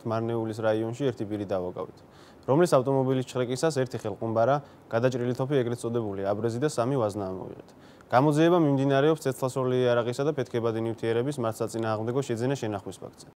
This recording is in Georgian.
ვართ მარნეულის რაიონში ერთი პირი დავაკავით, რომლის ავტომობილის ჩხრეკისას ერთი ხელყუმბარა, გადაჭრილი თოფი ეგრეთ წოდებული აბრეზი და 3 ვაზნა ამოვიღეთ. გამოძიება მიმდინარეობს ცეცხლსროლი იარაღისა და ფეთქებადი ნივთიერების მართლსაწინააღმდეგო შეძენა შენახვის ფაქტზე.